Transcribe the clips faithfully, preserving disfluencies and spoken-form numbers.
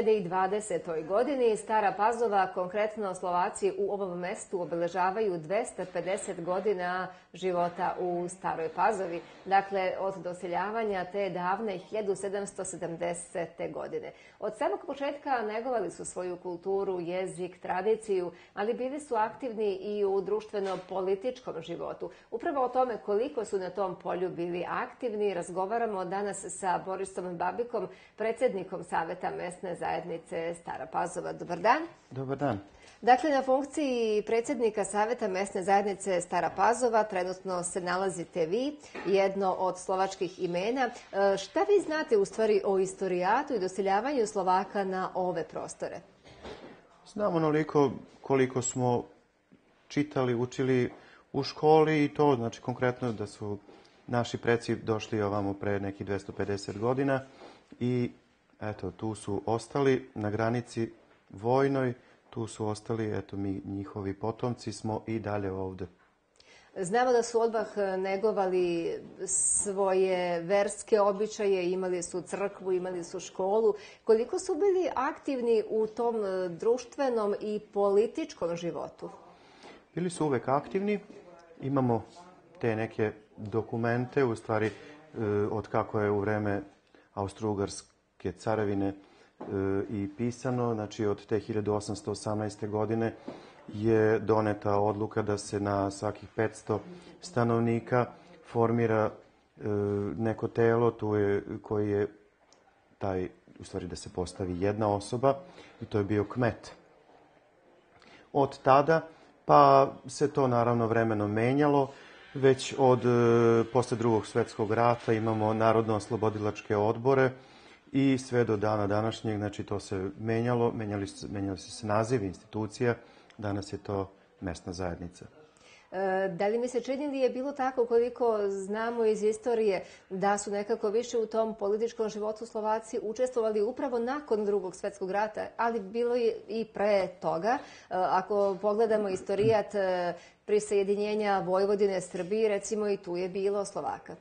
hiljade dvadesetoj. godini Stara Pazova, konkretno Slovaci u ovom mestu obeležavaju dvesta pedeset godina života u Staroj Pazovi. Dakle, od doseljavanja te davne hiljadu sedamsto sedamdesete. godine. Od samog početka negovali su svoju kulturu, jezik, tradiciju, ali bili su aktivni i u društveno-političkom životu. Upravo o tome koliko su na tom polju bili aktivni razgovaramo danas sa Borisom Babikom, predsjednikom Saveta mesne zajednice Stara Pazova. Dobar dan. Dobar dan. Dakle, na funkciji predsjednika Saveta mesne zajednice Stara Pazova trenutno se nalazite vi, jedno od slovačkih imena. Šta vi znate u stvari o istorijatu i doseljavanju Slovaka na ove prostore? Znam onoliko koliko smo čitali, učili u školi i to znači konkretno da su naši preci došli ovamo pre nekih dvesta pedeset godina i eto, tu su ostali na granici vojnoj, tu su ostali, eto, mi njihovi potomci smo i dalje ovde. Znamo da su odmah negovali svoje verske običaje, imali su crkvu, imali su školu. Koliko su bili aktivni u tom društvenom i političkom životu? Bili su uvek aktivni. Imamo te neke dokumente, u stvari od kako je u vreme Austro-Ugarske carevine i pisano, znači od te hiljadu osamsto osamnaeste. godine je doneta odluka da se na svakih petsto stanovnika formira neko telo tu je, koji je taj, u stvari da se postavi jedna osoba i to je bio kmet. Od tada pa se to naravno vremenom menjalo. Već od posle drugog svjetskog rata imamo narodno-oslobodilačke odbore i sve do dana današnjeg, znači to se menjalo, menjali, menjali su se nazivi institucija, danas je to mesna zajednica. Da li mi se čini li je bilo tako koliko znamo iz istorije da su nekako više u tom političkom životu Slovaci učestvovali upravo nakon drugog svjetskog rata, ali bilo je i pre toga. Ako pogledamo istorijat prisajedinjenja Vojvodine Srbiji, recimo i tu je bilo Slovaka.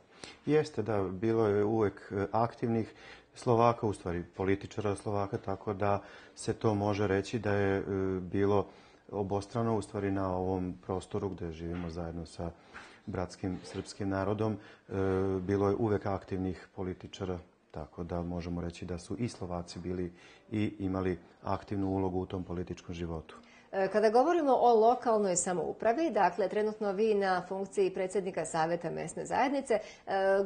Jeste, da, bilo je uvek aktivnih Slovaka, u stvari političara Slovaka, tako da se to može reći da je bilo obostrano, u stvari na ovom prostoru gde živimo zajedno sa bratskim srpskim narodom, bilo je uvek aktivnih političara, tako da možemo reći da su i Slovaci bili i imali aktivnu ulogu u tom političkom životu. Kada govorimo o lokalnoj samoupravi, dakle, trenutno vi na funkciji predsjednika Saveta mesne zajednice,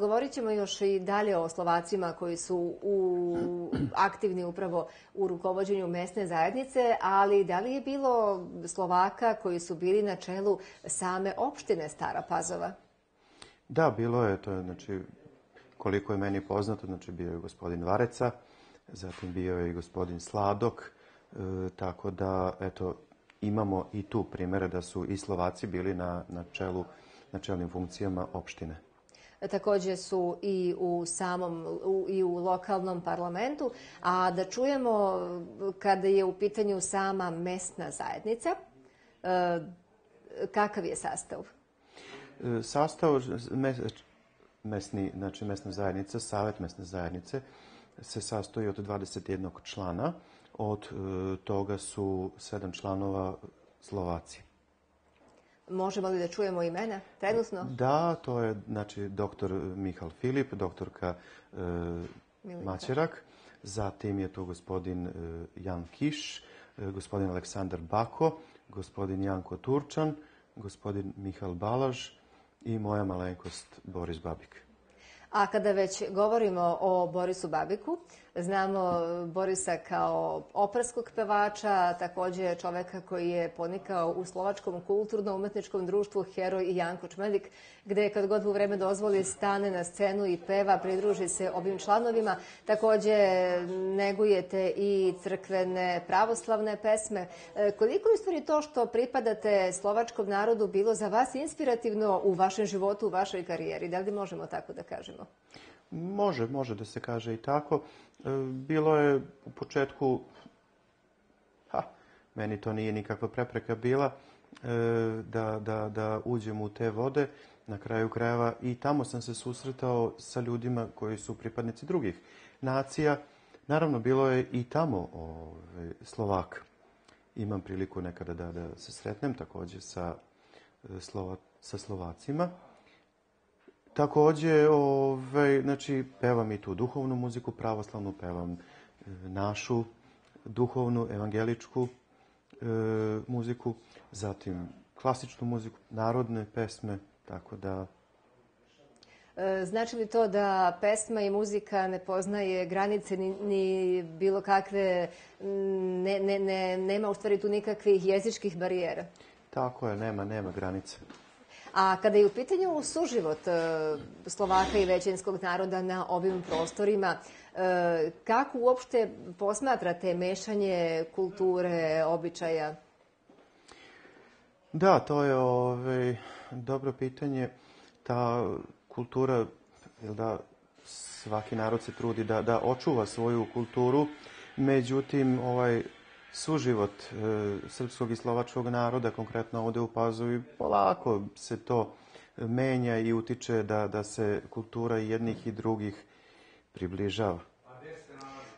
govorit ćemo još i dalje o Slovacima koji su u, aktivni upravo u rukovođenju mesne zajednice, ali da li je bilo Slovaka koji su bili na čelu same opštine Stara Pazova? Da, bilo je. To je, znači, koliko je meni poznato, znači bio je gospodin Vareca, zatim bio je i gospodin Sladok, e, tako da, eto, imamo i tu primjere da su i Slovaci bili na, na čelu, na čelnim funkcijama opštine. Također su i u samom u, i u lokalnom parlamentu, a da čujemo kada je u pitanju sama mesna zajednica, e, kakav je sastav? E, sastav mesni, znači mesna zajednica, Savet mesne zajednice se sastoji od dvadeset jednog člana. Od e, toga su sedam članova Slovaci. Možemo li da čujemo imena trenutno? Da, to je znači doktor Michal Filip, doktorka e, Maćerak, zatim je tu gospodin e, Jan Kiš, e, gospodin Aleksandar Bako, gospodin Janko Turčan, gospodin Michal Balaž i moja malenkost Boris Babik. A kada već govorimo o Borisu Babiku, znamo Borisa kao operskog pevača, također čoveka koji je ponikao u slovačkom kulturno-umetničkom društvu Heroj i Janko Čmedik, gde kad god mu vreme dozvoli stane na scenu i peva, pridruži se ovim članovima. Također negujete i crkvene pravoslavne pesme. Koliko je u stvari to što pripadate slovačkom narodu bilo za vas inspirativno u vašem životu, u vašoj karijeri? Da li možemo tako da kažemo? Može, može da se kaže i tako. Bilo je u početku, ha, meni to nije nikakva prepreka bila, da, da, da uđem u te vode. Na kraju krajeva i tamo sam se susretao sa ljudima koji su pripadnici drugih nacija, Naravno, bilo je i tamo ove, Slovak. Imam priliku nekada da, da se sretnem također sa, Slova, sa Slovacima. Također, ove, znači, pevam i tu duhovnu muziku, pravoslavnu, pevam e, našu duhovnu, evangeličku e, muziku, zatim klasičnu muziku, narodne pesme, tako da... Znači li to da pesma i muzika ne poznaje granice ni, ni bilo kakve, ne, ne, ne, nema u stvari tu nikakvih jezičkih barijera? Tako je, nema, nema granice. A kada je u pitanju suživot Slovaka i većinskog naroda na ovim prostorima, kako uopšte posmatrate mešanje kulture, običaja? Da, to je ovaj, dobro pitanje. Ta kultura, jel da, svaki narod se trudi da, da očuva svoju kulturu, međutim, ovaj suživot e, srpskog i slovačkog naroda, konkretno ovdje u Pazovi, polako se to menja i utiče da, da se kultura jednih i drugih približava.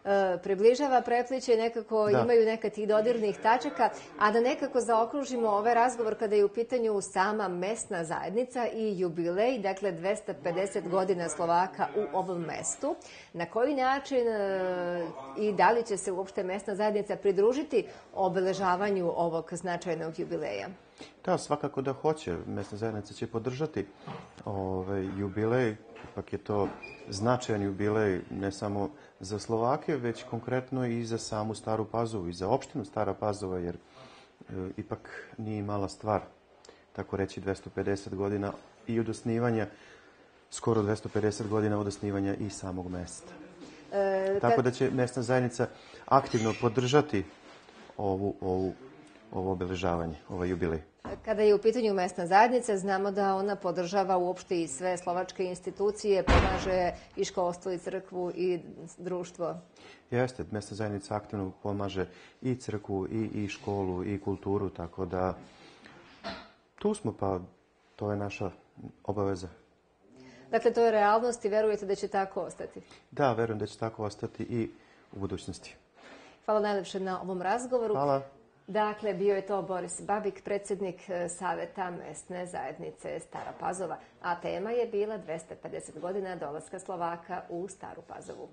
E, približava, prepliče, nekako da. Imaju neka tih dodirnih tačaka, a da nekako zaokružimo ovaj razgovor kada je u pitanju sama mesna zajednica i jubilej, dakle dvesta pedeset godina Slovaka u ovom mestu. Na koji način e, i da li će se uopšte mesna zajednica pridružiti obeležavanju ovog značajnog jubileja? Da, svakako da hoće. Mesna zajednica će podržati ovaj jubilej. Ipak je to značajan jubilej ne samo za Slovake, već konkretno i za samu Staru Pazovu i za opštinu Stara Pazova, jer e, ipak nije mala stvar, tako reći, dvesta pedeset godina i od osnivanja, skoro dvesta pedeset godina od osnivanja i samog mesta. E, kad... Tako da će mesna zajednica aktivno podržati ovu, ovu, ovo obeležavanje, ovaj jubilej. Kada je u pitanju mesna zajednica, znamo da ona podržava uopšte i sve slovačke institucije, pomaže i školstvo, i crkvu, i društvo. Jeste, mesna zajednica aktivno pomaže i crkvu, i, i školu, i kulturu, tako da tu smo, pa to je naša obaveza. Dakle, to je realnost i verujete da će tako ostati? Da, verujem da će tako ostati i u budućnosti. Hvala najlepše na ovom razgovoru. Hvala. Dakle, bio je to Boris Babik, predsjednik Saveta mesne zajednice Stara Pazova, a tema je bila dvesta pedeset godina dolaska Slovaka u Staru Pazovu.